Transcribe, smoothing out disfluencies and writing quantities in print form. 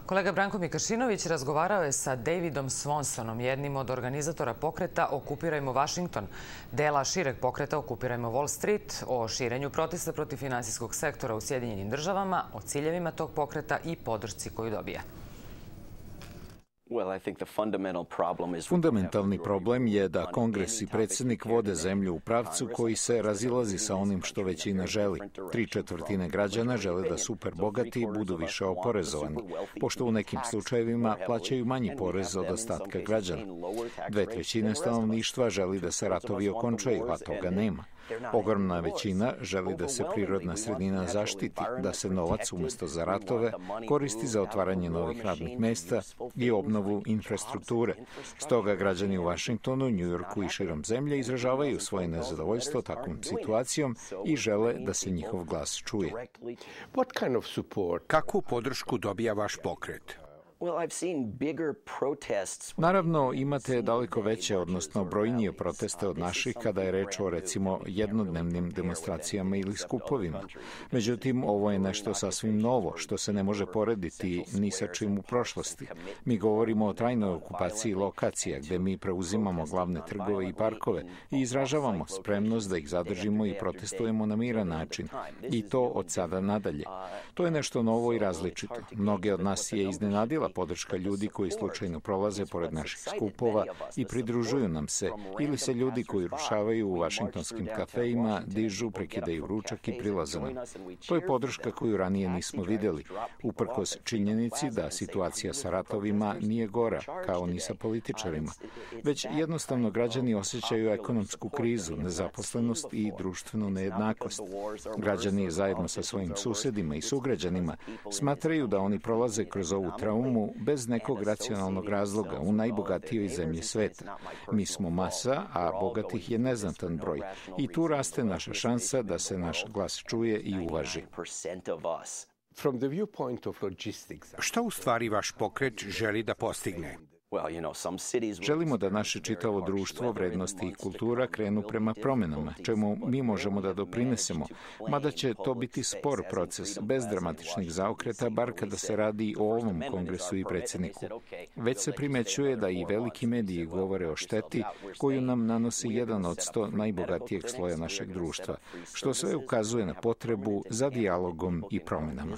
Kolega Branko Mikašinović razgovarao je sa Davidom Swansonom, jednim od organizatora pokreta Okupirajmo Washington, dela šireg pokreta Okupirajmo Wall Street, o širenju protesta protiv finansijskog sektora u Sjedinjenim državama, o ciljevima tog pokreta i podršci koju dobija. Fundamentalni problem je da Kongres i predsjednik vode zemlju u pravcu koji se razilazi sa onim što većina želi. 3/4 građana žele da superbogati budu više oporezovani, pošto u nekim slučajevima plaćaju manji porez od ostatka građana. 2/3 stanovništva želi da se ratovi okončaju, a toga nema. Ogromna većina želi da se prirodna sredina zaštiti, da se novac umjesto za ratove koristi za otvaranje novih radnih mesta i obnovu infrastrukture. Stoga građani u Washingtonu, New Yorku i širom zemlje izražavaju svoje nezadovoljstvo takvom situacijom i žele da se njihov glas čuje. Kakvu podršku dobija vaš pokret? Naravno, imate daleko veće, odnosno brojnije proteste od naših kada je reč o, recimo, jednodnevnim demonstracijama ili skupovima. Međutim, ovo je nešto sasvim novo, što se ne može porediti ni sa čim u prošlosti. Mi govorimo o trajnoj okupaciji lokacija, gde mi preuzimamo glavne trgove i parkove i izražavamo spremnost da ih zadržimo i protestujemo na miran način. I to od sada nadalje. To je nešto novo i različito. Mnoge od nas je iznenadila podrška ljudi koji slučajno prolaze pored naših skupova i pridružuju nam se, ili se ljudi koji rušavaju u vašingtonskim kafejima, dižu, prekidaju ručak i prilaze nam. To je podrška koju ranije nismo vidjeli, uprkos činjenici da situacija sa ratovima nije gora, kao ni sa političarima, već jednostavno građani osjećaju ekonomsku krizu, nezaposlenost i društvenu nejednakost. Građani zajedno sa svojim susjedima i sugrađanima smatraju da oni prolaze kroz ovu traumu bez nekog racionalnog razloga u najbogatijoj zemlji sveta. Mi smo masa, a bogatih je neznatan broj. I tu raste naša šansa da se naš glas čuje i uvaži. Šta u stvari vaš pokret želi da postigne? Želimo da naše čitavo društvo, vrednosti i kultura krenu prema promjenama, čemu mi možemo da doprinesemo, mada će to biti spor proces, bez dramatičnih zaokreta, bar kada se radi o ovom kongresu i predsjedniku. Već se primećuje da i veliki mediji govore o šteti koju nam nanosi 1 od 100 najbogatijeg sloja našeg društva, što sve ukazuje na potrebu za dijalogom i promjenama.